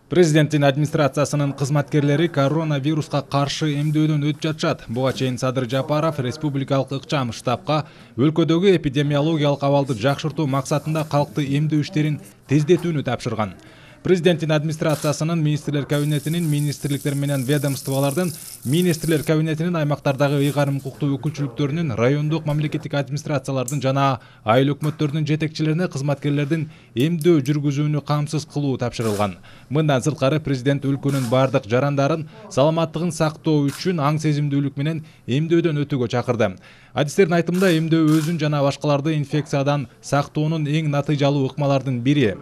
Президенттин администрациясынын кызматкерлери коронавируска каршы эмдөөдөн өтүп жатышат. Буга чейин Садыр Жапаров республикалык ыкчам штабка өлкөдөгү эпидемиологиялык абалды жакшыртуу максатында калкты эмдөө иштерин тездетүүнү тапшырган. Президенттин администрациясынын министрлер кабинетинин, министрликтер менен ведомстволордун, министрлер кабинетинин аймактардагы ыйгарым укуктуу өкүлчүлүктөрүнүн, райондук мамлекеттик администрациялардын жана айыл өкмөттөрдүн жетекчилерине кызматкерлердин эмдөө жүргүзүүнү камсыз кылуу тапшырылган. Мындан сырткары президент өлкөнүн бардык жарандарын саламаттыгын сактоо үчүн аң сезимдүүлүк менен эмдөөдөн өтүүгө чакырды. Адистердин айтымында эмдөө өзүн жана башкаларды инфекциядан сактоонун эң натыйжалуу ыкмалардын бири.